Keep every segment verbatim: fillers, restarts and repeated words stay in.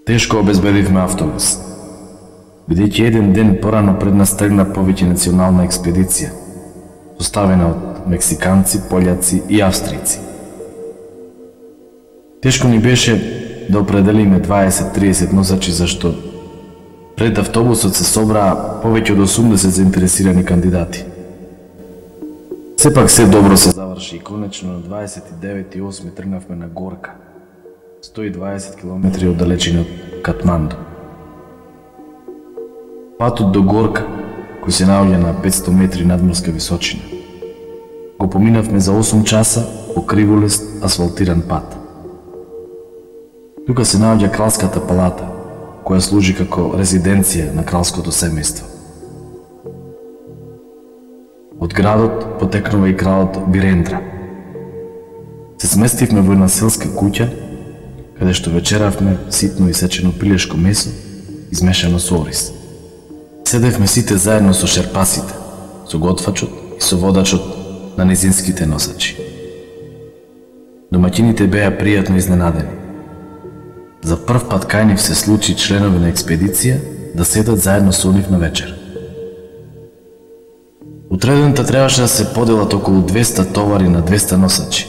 Тешко обезбедивме автобус, бидејќи еден ден порано пред нас тргна повеќе национална експедиција, составена од мексиканци, пољаци и австријци. Тешко ни беше да определиме дваесет до триесет носачи, зашто пред автобусот се собраа повеќе од осумдесет заинтересирани кандидати. Сепак се добро се заврши и конечно на дваесет и девети осми тргнавме на Горка, сто и дваесет километри од далечина од Катманду. Патот до Горка, кој се наоѓа на петсто метри надморска височина, го поминавме за осум часа по криволест асфалтиран пат. Тука се наоѓа кралската палата, која служи како резиденција на кралското семејство. Од градот потекнува и кралот Бирендра. Се сместивме во една селска куќа, каде што вечеравме ситно исечено пилешко месо, измешано со ориз. Седевме сите заедно со шерпасите, со готвачот и со водачот на низинските носачи. Домаќините беа пријатно изненадени. За прв пат кај нив се случи членови на експедиција да седат заедно со нив на вечер. Утредента требаше да се поделат околу двеста товари на двеста носачи.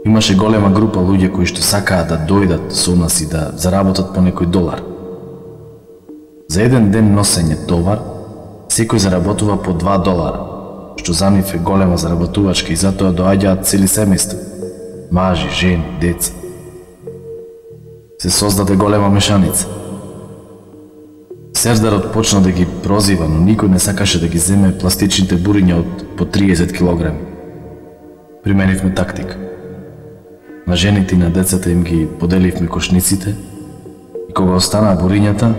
Имаше голема група луѓе кои што сакаа да дојдат со нас и да заработат по некој долар. За еден ден носење товар, секој заработува по два долара, што за нив е голема заработувачка и затоа доаѓаат цели семејства, мажи, жени, деца. Се создаде голема мешаница. Сердарот почна да ги прозива, но никој не сакаше да ги земе пластичните буриња од по триесет килограми. Применивме тактика. На жените и на децата им ги поделивме кошниците и кога останаа бурињата,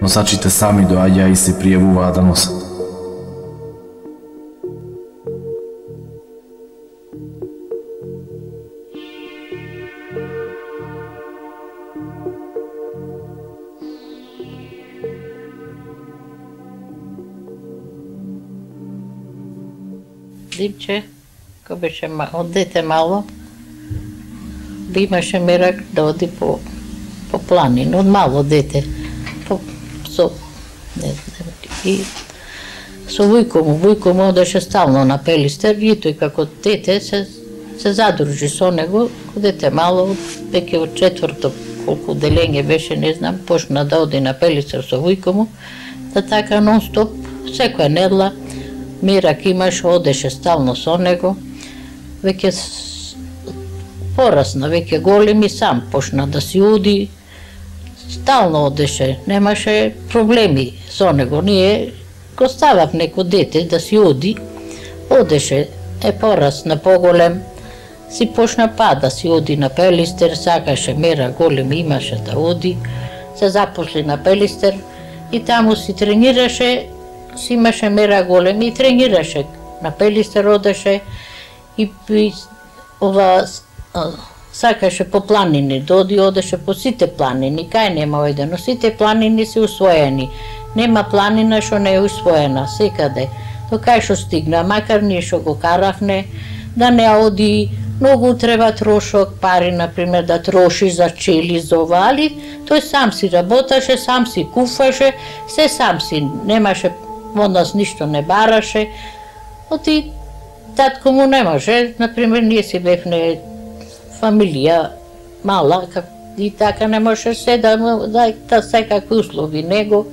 носачите сами доаѓаа и се пријавуваа да носат. Димче, кој беше од дете мало, да имаше мерак да оди по, по планина, од мало дете. По, со, не знам, и со вујко му, вујко му одеше стално на Пелистер и тој како дете се, се задружи со него, кога дете мало, веќе од четврто, колку делење беше, не знам, почна да оди на Пелистер со вујко му, да така нон-стоп, секоја недела, мерак имаше, одеше стално со него, веќе порасна, веќе голем и сам почна да си оди, стално одеше, немаше проблеми со него, ние го ставав неко дете да си оди, одеше, е порасна, поголем, си почна па да си оди на Пелистер, сакаше мера голем имаше да оди, се запосли на Пелистер и таму си тренираше, си имаше мера голем и тренираше. На Пелистер одеше и, и ова сакаше по планини, доди одеше по сите планини, кај нема ојде, но сите планини се усвоени. Нема планина што не е усвоена, секаде. До кај што стигна, макар ние што го каравне, да не оди, многу треба трошок, пари, например, да троши за чели, за ова, али тој сам си работаше, сам си куфаше, се сам си, немаше од нас ништо не бараше, оти татко му не може, например, ние си бевне фамилија мала, и така не може се да да, да секакви услови него,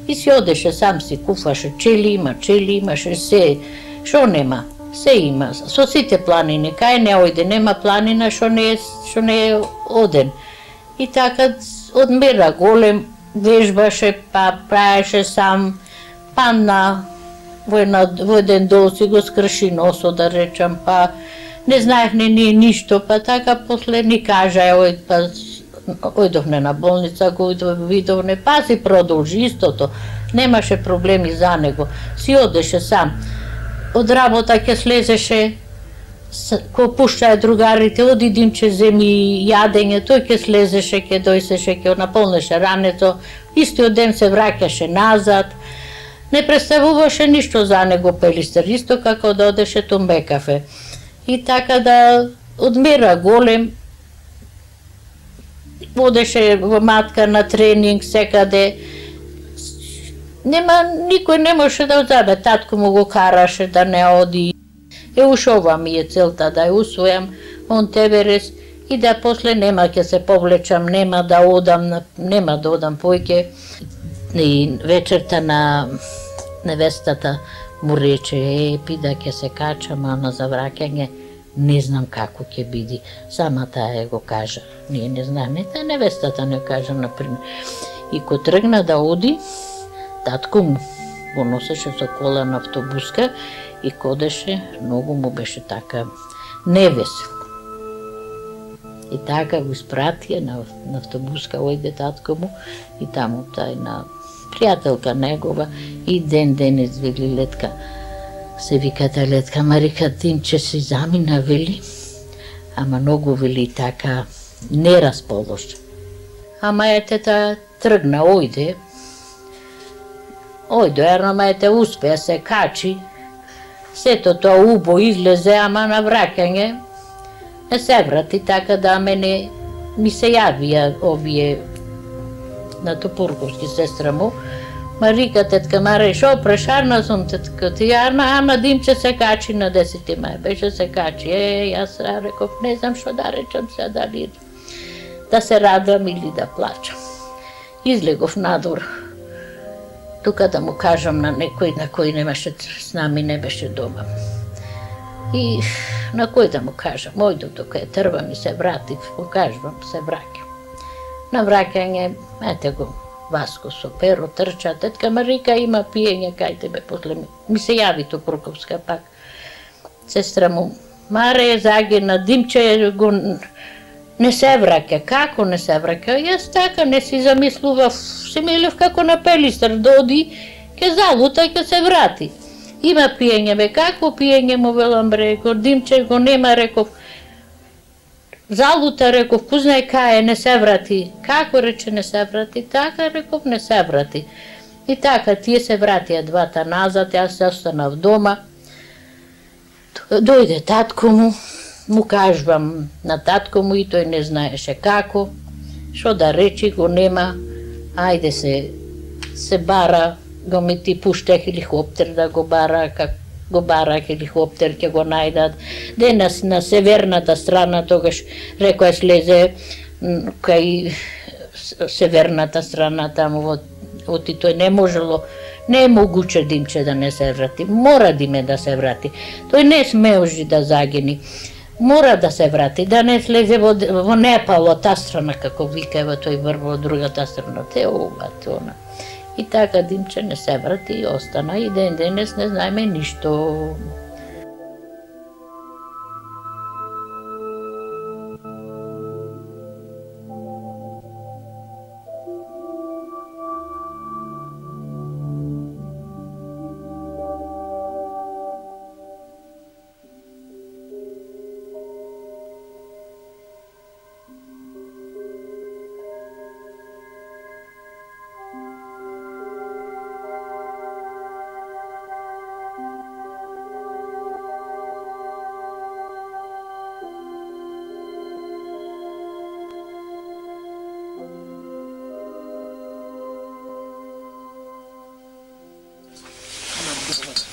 и си одеше, сам си куфаше чели, има чели, имаше се, шо нема, се има, со сите планини, кај не ојде, нема планина што не е, што не е оден. И така, од мера голем, вежбаше, па праеше сам, па на во, една, во еден дол си го скрши носо, да речам, па не знаевме ние ништо, па така после ни кажа, ој, па ојдовне на болница, го видовне, па си продолжи истото, немаше проблеми за него, си одеше сам. Од работа ќе слезеше, ко пуштаја другарите, оди Димче земи јадење, тој ќе слезеше, ќе дојсеше, ќе наполнеше рането, истиот ден се враќаше назад, не представуваше ништо за него Пелистер, исто како да одеше одеше во матка на тренинг секаде. Нема, никој не може да одземе, татко му го караше да не оди. Е, уш ова ми е целта, да ја усвојам он Теверес и да после нема ќе се повлечам, нема да одам, нема да одам појќе. И вечерта на невестата му рече, е, пида ќе се качам, а на завраќање не знам како ќе биде. Сама таа е го кажа. Ние не знаеме, та невестата не кажа, например. И ко тргна да оди, татко му го носеше со кола на автобуска и кодеше, многу му беше така невесел. И така го испратија на, на автобуска, ојде татко му и таму тај на пријателка негова и ден денес вели Летка. Се виката Летка, Марика Тимче си замина, вели, ама многу вели така не расположа. Ама мајетета тргна, ојде, ојде, ерно мајете успеа се качи, сето тоа убо излезе, ама на враќање не се врати, така да мене ми се јавија овие на Топурковски сестра му, Марика, тетка Маре, шо прешарна сум, тетка ти, ама, ама Димче се качи на десети мај, беше се качи, е, јас реков, не знам шо да речам се, дали да се радам или да плачам. Излегов надвор, тука да му кажам на некој на кој немаше с нами, не беше дома. И на кој да му кажам, ојдов тука е трба ми се вратив, го кажувам, се враќам. На враќање, ете го, Васко со перо трча, тетка Марика има пиење кај тебе, после ми, ми се јави Топурковска пак. Сестра му, Маре, загина, Димче го не се враќа, како не се враќа? Јас така не си замислував, си милев како на Пелистар, доди, ке залута, ке се врати. Има пиење, бе, како пиење му велам, реков, Димче го нема, реков, залута, реков, ку знае кај е, не се врати. Како рече не се врати? Така, реков, не се врати. И така, тие се вратија двата назад, јас се останав дома. Дојде татко му, му кажувам на татко му и тој не знаеше како, шо да речи, го нема, ајде се, се бара, го ми ти пуште хеликоптер да го бара, как го бара хеликоптер, ќе го најдат. Денес на северната страна, тогаш рекој слезе кај северната страна, таму во оти тој не можело, не е могуче Димче да не се врати, мора Диме да се врати. Тој не смеожи да загини, мора да се врати, да не слезе во, во Непал, од таа страна, како викаева тој врво од другата страна, те ова, те она. И така Димче не се врати и остана и ден денес не знаеме ништо.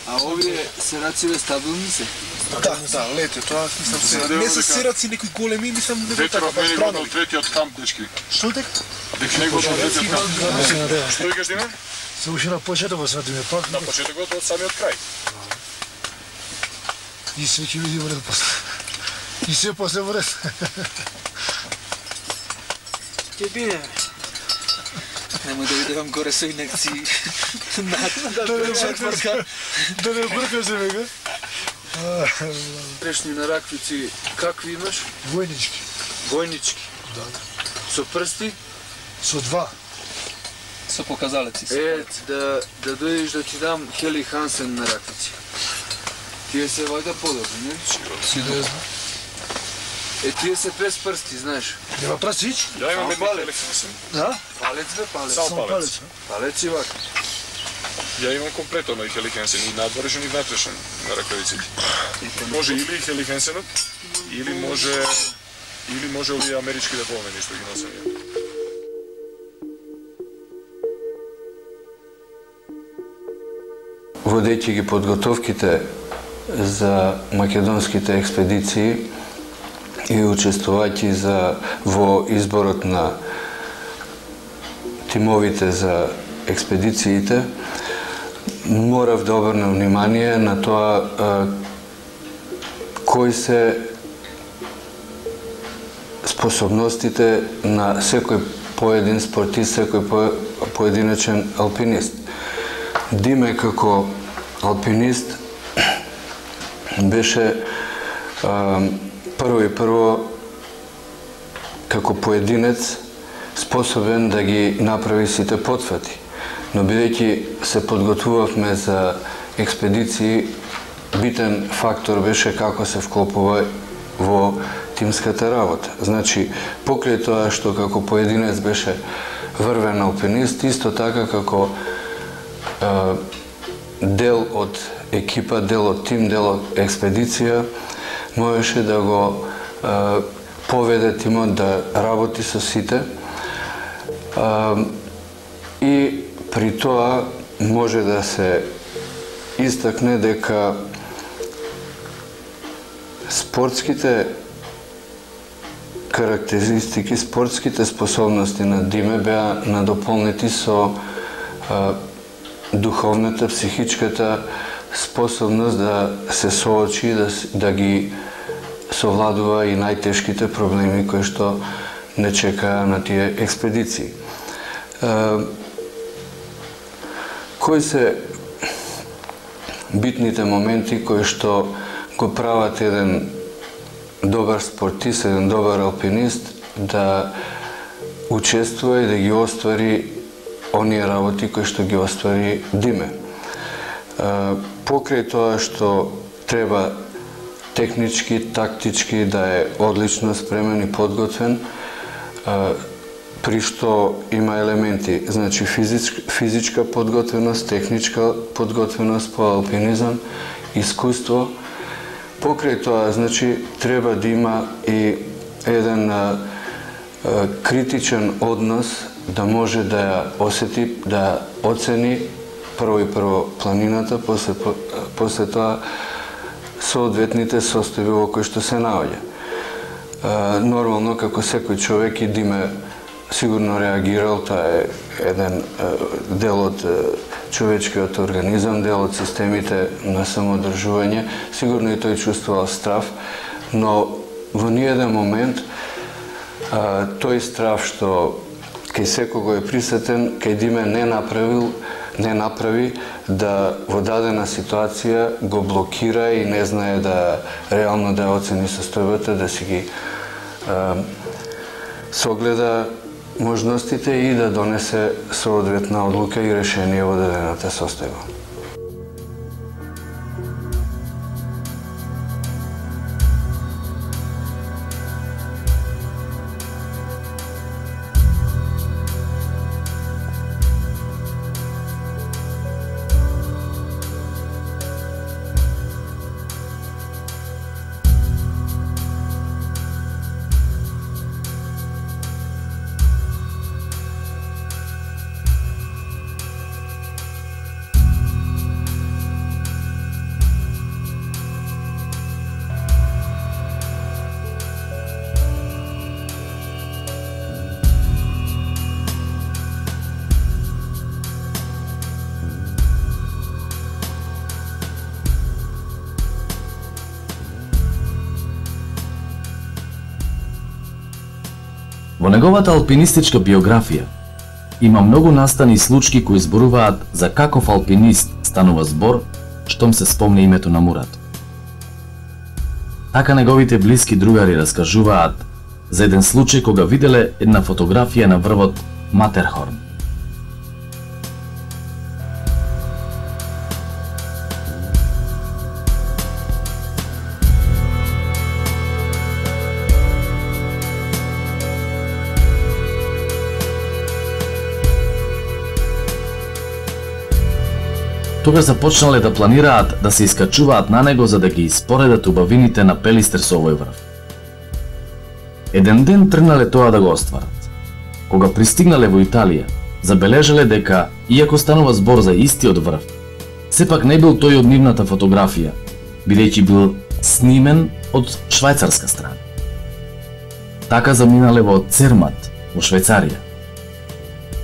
А овие серациве стабилни се? Да, да, лете, тоа мислам се. Не се сераци некои големи, мислам него така па страна. Од третиот камп, дечки. Што дека? Дека него од третиот камп. Што викаш Диме? Се уште на почетокот сватиме пак. На почетокот од самиот крај. И се ќе види во ред после. И се после во ред. Ќе биде. Нема да видевам горе со инекции. Да не бркаш се вега. Трешни на раквици какви имаш? Војнички. Војнички? Да. Со прсти? Со два. Со показалеци. Е, да, да дојдеш да ти дам Хели Хансен на раквици. Тие се вајда подобри, не? Сигурно. Е, тие се без прсти, знаеш. Нема прстич? Ја имам едни палец. Хели Хансен. Да? Палец бе, палец. Само палец. Палец и вака. Ја имам комплетно и Хели Хансен, и надворешен и внатрешен на ракавиците. Може или Хели Хансенот, или може Или може ли амерички да помени што ги носење? Водејќи ги подготовките за македонските експедиции и учествувајќи за во изборот на тимовите за експедициите, морав да обрнем внимание на тоа а, кои се способностите на секој поедин спортист, секој по, поединечен алпинист. Диме како алпинист беше а, прво и прво како поединец способен да ги направи сите потфати. Но бидејќи се подготвувавме за експедиции, битен фактор беше како се вклопува во тимската работа. Значи, покрај тоа што како поединец беше врвен алпинист, исто така како е, дел од екипа, дел од тим, дел од експедиција, можеше да го е, поведе тимот да работи со сите е, и при тоа може да се истакне дека спортските карактеристики, спортските способности на Диме беа надополнети со а, духовната, психичката способност да се соочи, да, да ги совладува и најтешките проблеми кои што не чекаа на тие експедиции. А, кои се битните моменти кои што го прават еден добар спортист, еден добар алпинист да учествува и да ги оствари оние работи кои што ги оствари Диме. Покрај тоа што треба технички, тактички да е одлично спремен и подготвен, при што има елементи, значи физичка, физичка подготвеност, техничка подготвеност по алпинизам, искуство. Покрај тоа, значи, треба да има и еден а, а, критичен однос да може да ја осети, да оцени прво и прво планината, после, после тоа соодветните состојби во кои што се наоѓа. Нормално, како секој човек и Диме сигурно реагирал, тоа е еден дел од човечкиот организам, дел од системите на самоодржување, сигурно и тој чувствувал страв, но во ниеден момент а, тој страв што кај секого е присутен, кај Диме не направил, не направи да во дадена ситуација го блокира и не знае да реално да оцени состојбата, да си ги а, согледа можностите и да донесе соодветна одлука и решение во дадената состојба. Во неговата алпинистичка биографија има многу настани и случаи кои зборуваат за каков алпинист станува збор штом се спомне името на Мурат. Така неговите блиски другари раскажуваат за еден случај кога виделе една фотографија на врвот Матерхорн. Тогаш започнале да планираат да се искачуваат на него за да ги испоредат убавините на Пелистер со овој врв. Еден ден тргнале тоа да го остварат. Кога пристигнале во Италија, забележале дека, иако станува збор за истиот врв, сепак не бил тој од нивната фотографија, бидејќи бил снимен од швајцарска страна. Така заминале во Цермат, во Швајцарија.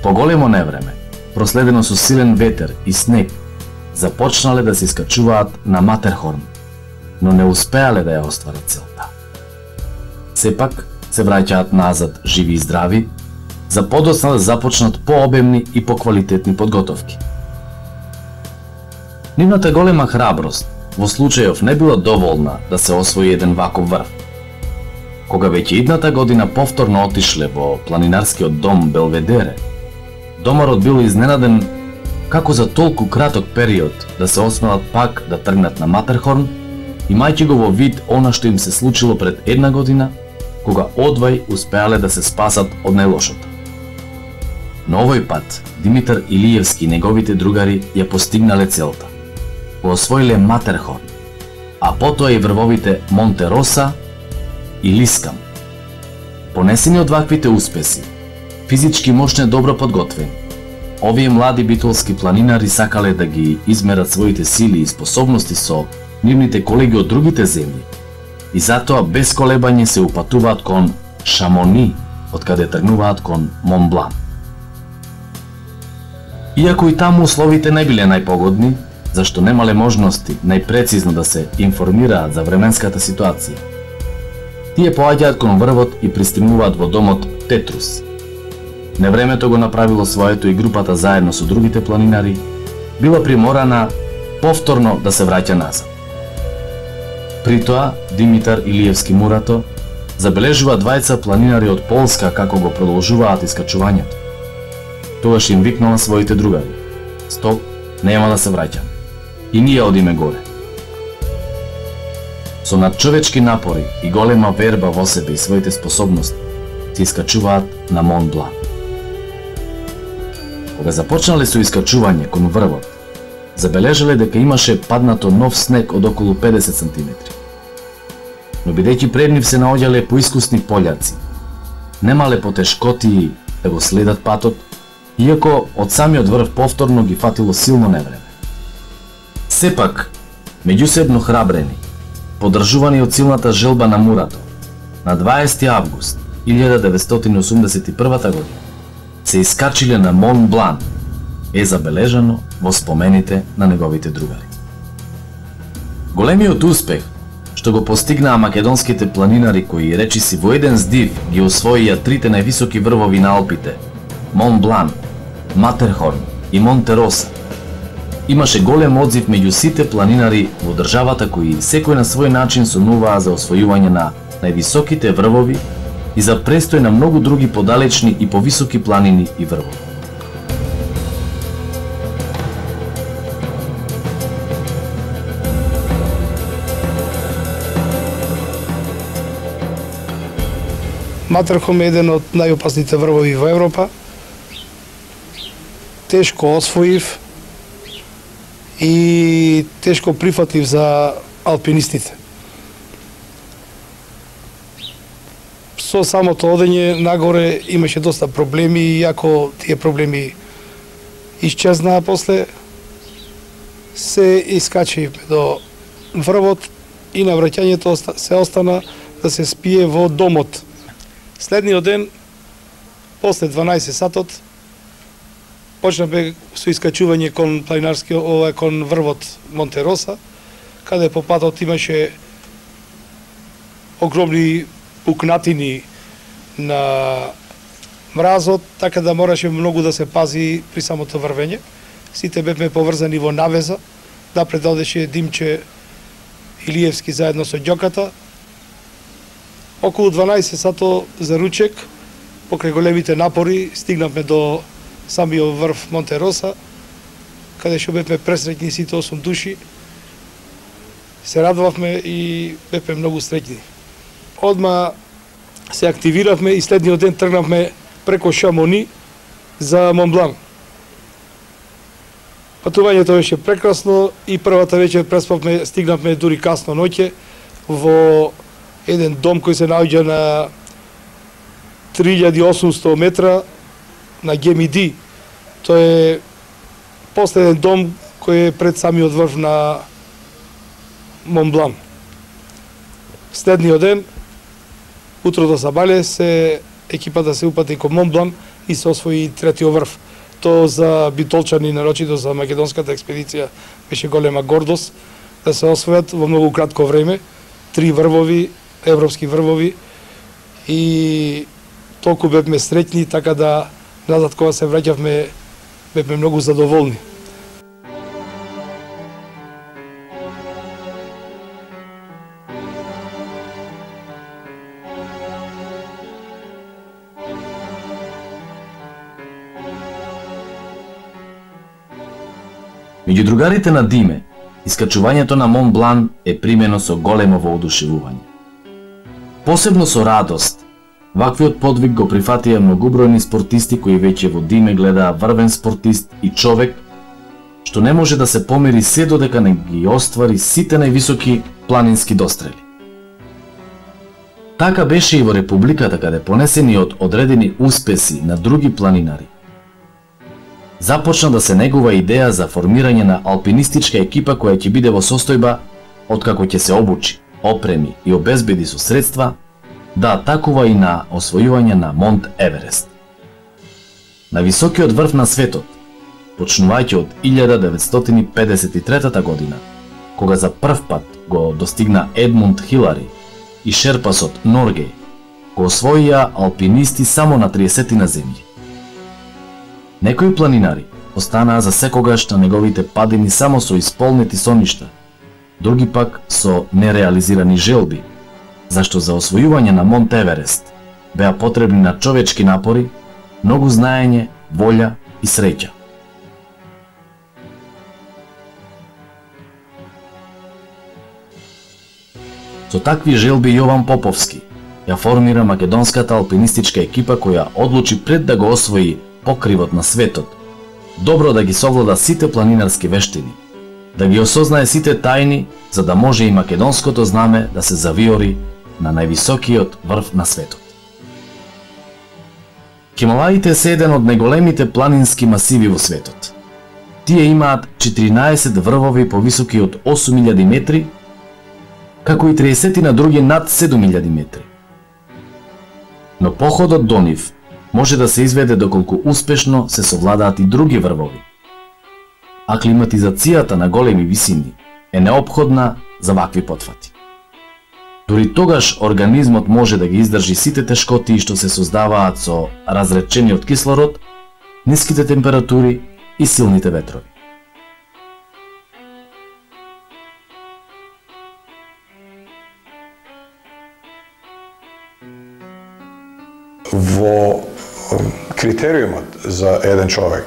По големо невреме, проследено со силен ветер и снег, започнале да се искачуваат на Матерхорн, но не успеале да ја остварат целта. Сепак се враќаат назад живи и здрави, за подоцна да започнат пообемни и поквалитетни подготовки. Нивната голема храброст во случајов не била доволна да се освои еден ваков врв. Кога веќе идната година повторно отишле во планинарскиот дом Белведере, домарот бил изненаден како за толку краток период да се осмелат пак да тргнат на Матерхорн, имајќи го во вид она што им се случило пред една година, кога одвај успеале да се спасат од најлошото. Но овој пат Димитар Илиевски и неговите другари ја постигнале целта. Го освоиле Матерхорн, а потоа и врвовите Монтероса и Лискам. Понесени од ваквите успеси, физички мощно добро подготвени, овие млади битолски планинари сакале да ги измерат своите сили и способности со нивните колеги од другите земји и затоа без колебање се упатуваат кон Шамони, од каде тргнуваат кон Монблан. Иако и таму условите не биле најпогодни, зашто немале можности најпрецизно да се информираат за временската ситуација, тие поаѓаат кон врвот и пристигнуваат во домот Тетрус. Невремето го направило своето и групата заедно со другите планинари била приморана повторно да се враќа назад. При тоа, Димитар Илиевски Мурато забележува двајца планинари од Полска како го продолжуваат искачувањето. Тогаш им викнала своите другари: "Стоп, нема да се враќаме. И ние одиме горе." Со надчовечки напори и голема верба во себе и своите способности се искачуваат на Мон Блан. Кога започнале со искачување кон врвот, забележале дека имаше паднато нов снег од околу педесет сантиметри. Но бидејќи пред нив се наоѓале поискусни пољаци, немале потешкоти да го следат патот, иако од самиот врв повторно ги фатило силно невреме. Сепак, меѓусебно храбрени, подржувани од силната желба на Мурато, на дваесети август илјада деветстотини осумдесет и прва година се искачиле на Мон Блан, е забележано во спомените на неговите другари. Големиот успех што го постигнаа македонските планинари кои речиси во еден здив ги освоија трите највисоки врвови на Алпите, Мон Блан, Матерхорн и Монтероса, имаше голем одзив меѓу сите планинари во државата кои секој на свој начин сонуваа за освојување на највисоките врвови и за престој на многу други подалечни и повисоки планини и врвови. Матерхорн е еден од најопасните врвови во Европа. Тешко освоив и тешко прифатлив за алпинистите. Со самото одење нагоре имаше доста проблеми, иако тие проблеми исчезнаа после, се искачи до врвот и на враќањето се остана да се спие во домот. Следниот ден, после дванаесет сатот, почнавме со искачување кон планинарскиот, ова кон врвот Монтероса, каде по патот имаше огромни пукнатини на мразот, така да мораше многу да се пази при самото врвење. Сите бевме поврзани во навеза, напред одеше Димче Илиевски заедно со ѓоката. Околу дванаесет сато за ручек, покрај големите напори, стигнавме до самиот врв Монтероса, каде што бевме пресреќни сите осум души. Се радувавме и бевме многу среќни. Одма се активиравме и следниот ден тргнавме преко Шамони за Монблан. Патувањето беше прекрасно и првата вечер преспавме, стигнавме дури касно ноќе во еден дом кој се наоѓа на три илјади и осумсто метра на Гемиди. Тоа е последен дом кој е пред самиот врв на Монблан. Следниот ден, утрото за Бале, се екипата се упати кон Монблан и се освои третиот врв. Тоа за битолчани, нарочито за македонската експедиција, беше голема гордост да се освојат во многу кратко време три врвови, европски врвови, и толку бевме среќни, така да назад кога се враќавме бевме многу задоволни. Меѓу другарите на Диме, искачувањето на Мон Блан е примено со големо воодушевување. Посебно со радост, ваквиот подвиг го прифатија многубројни спортисти кои веќе во Диме гледаа врвен спортист и човек што не може да се помери се додека не ги оствари сите највисоки планински дострели. Така беше и во Републиката, каде понесени од одредени успеси на други планинари, започна да се негува идеја за формирање на алпинистичка екипа која ќе биде во состојба, откако ќе се обучи, опреми и обезбеди со средства, да атакува и на освојување на Монт Еверест. На високиот врв на светот, почнувајќи од илјада деветстотини педесет и трета година, кога за прв пат го достигна Едмунд Хилари и шерпасот Норгеј, го освоија алпинисти само на триесетина земји. Некои планинари останаа за секогаш на неговите падини само со исполнети соништа, други пак со нереализирани желби, зашто за освојување на Монт Еверест беа потребни на човечки напори, многу знаење, волја и среќа. Со такви желби Јован Поповски ја формира македонската алпинистичка екипа која одлучи пред да го освои покривот на светот, добро да ги совлада сите планинарски вештини, да ги осознае сите тајни, за да може и македонското знаме да се завиори на највисокиот врв на светот. Хималаите се еден од најголемите планински масиви во светот. Тие имаат четиринаесет врвови повисоки од осум илјади метри, како и триесет на други над седум илјади метри. Но походот до нив може да се изведе доколку успешно се совладаат и други врвови. Аклиматизацијата на големи висини е неопходна за вакви потфати. Дури тогаш организмот може да ги издржи сите тешкоти што се создаваат со разречениот кислород, ниските температури и силните ветрови. Во критериумот за еден човек,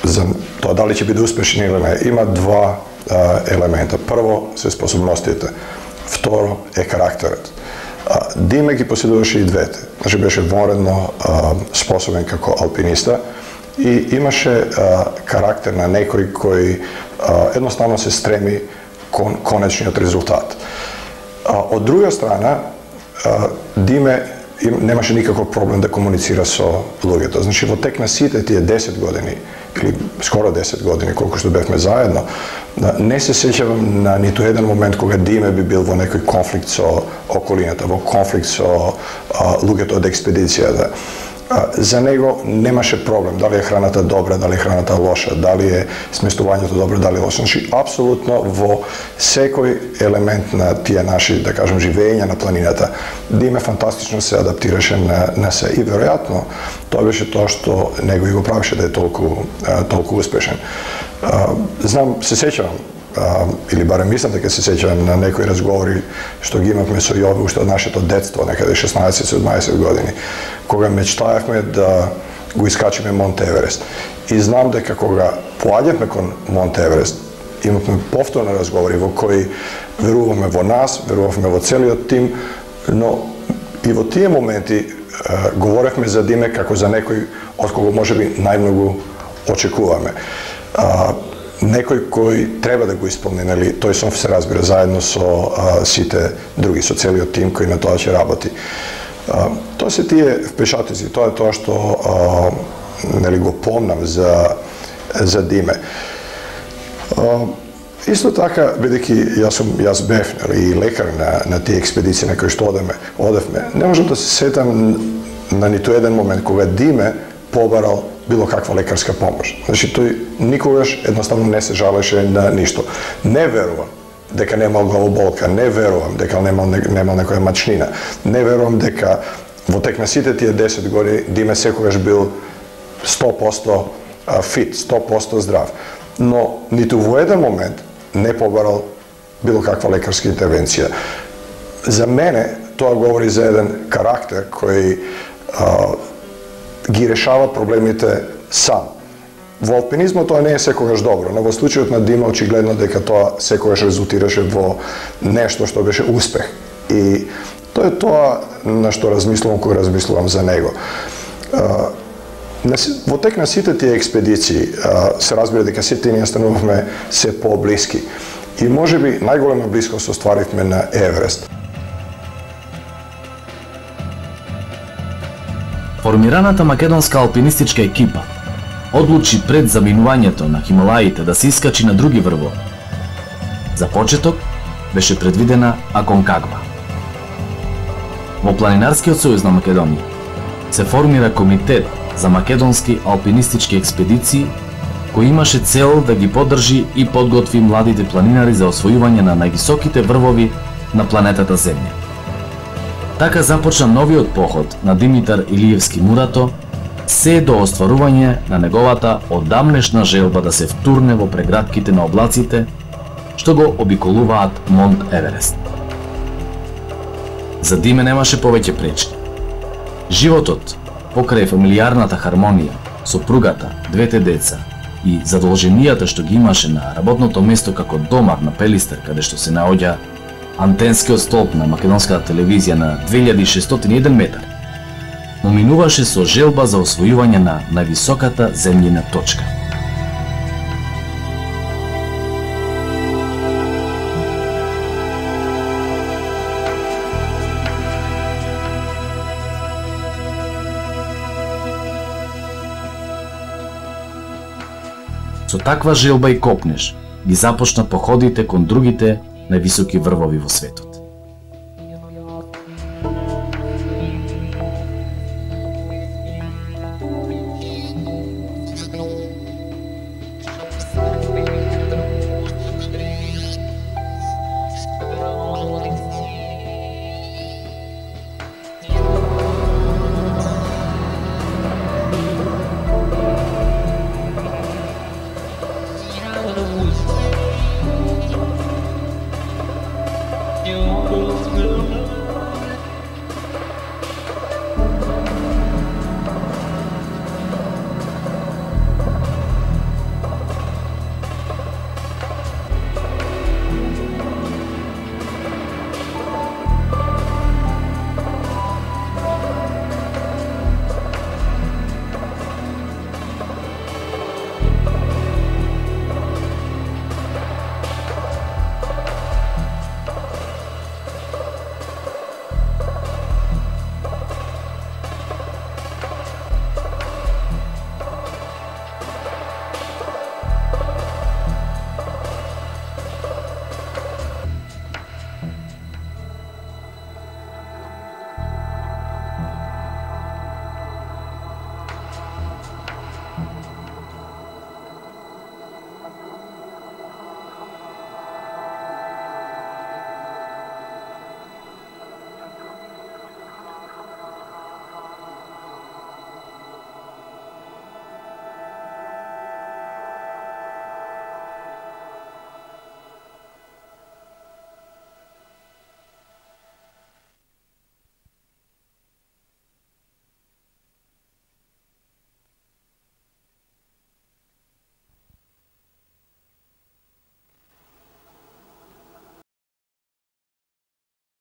за тоа дали ќе биде успешен или не, има два елемента. Прво се способностите, второ е карактерот. Диме ги поседуваше и двете. Значи беше вонредно способен како алпиниста и имаше карактер на некој кој едноставно се стреми кон конечниот резултат. Од друга страна, Диме немаше никаков проблем да комуницира со луѓето. Значи, во тек на сите тие десет години, или скоро десет години, колку што бевме заедно, не се сеќавам на ниту еден момент кога Диме би бил во некој конфликт со околината, во конфликт со а, луѓето од експедицијата. А, за него немаше проблем, дали е храната добра, дали е храната лоша, дали е сместувањето добро, дали е лошо. Значи, апсолутно во секој елемент на тие наши, да кажем, живење на планината, Диме фантастично се адаптираше на, на се. И веројатно, тоа беше тоа што него и го правеше да е толку, а, толку успешен. А, знам, се сеќавам, а, или барем мислам дека се сеќавам на некои разговори што ги имавме со Јове уште од нашето детство, некаде шеснаесет-седумнаесет години, кога мечтаевме да го искачиме Монт Еверест. И знам дека кога поаѓавме кон Монт Еверест, имавме повторно разговори во кои веруваме во нас, веруваме во целиот тим, но и во тие моменти е, говоревме за Диме како за некој од кого можеби најмногу очекуваме. А, некој кој треба да го исполни, нели, тој сон се разбира заедно со а, сите други, со целиот тим кој на тоа ќе работи. А, тоа Тоа се тие впечатоци, тоа е тоа што а, нели го помнам за за Диме. А, исто така, бидејќи јас сум јас бев и лекар на на тие експедиции на кои што одеме, одевме, не можам да се сетам на ниту еден момент кога Диме побарал било каква лекарска помош. Значи тој никогаш едноставно не се жалеше на ништо. Не верувам дека немал главоболка, не верувам дека немал немал некоја мачнина. Не верувам дека во тек на сите тие десет години Диме секогаш бил сто проценти фит, сто проценти здрав. Но ниту во еден момент не побарал било каква лекарска интервенција. За мене тоа говори за еден карактер кој а, ги решава проблемите сам. Во алпинизмот тоа не е секогаш добро, но во случајот на Дима очигледно дека тоа секогаш резултираше во нешто што беше успех. И тоа е тоа на што размислувам кога размислувам за него. А, во тек на сите тие експедиции а, се разбира дека сите ние станувавме се по-блиски. И можеби најголема блискост остваривме на Еверест. Формираната македонска алпинистичка екипа одлучи пред заминувањето на Хималаите да се искачи на други врвови. За почеток беше предвидена Аконкагва. Во Планинарскиот сојуз на Македонија се формира комитет за македонски алпинистички експедиции кој имаше цел да ги поддржи и подготви младите планинари за освојување на највисоките врвови на планетата Земја. Така започна новиот поход на Димитар Илиевски Мурато, се до остварување на неговата одамнешна желба да се втурне во прегратките на облаците што го обиколуваат Монт Еверест. За Диме немаше повеќе пречки. Животот покрај фамилијарната хармонија, сопругата, двете деца и задолженијата што ги имаше на работното место како домар на Пелистер, каде што се наоѓа антенскиот столб на македонската телевизија на две илјади и шестоина и еден метар, му минуваше со желба за освојување на највисоката земјина точка. Со таква желба и копнеш ги започна походите кон другите највисоки врвови во светот.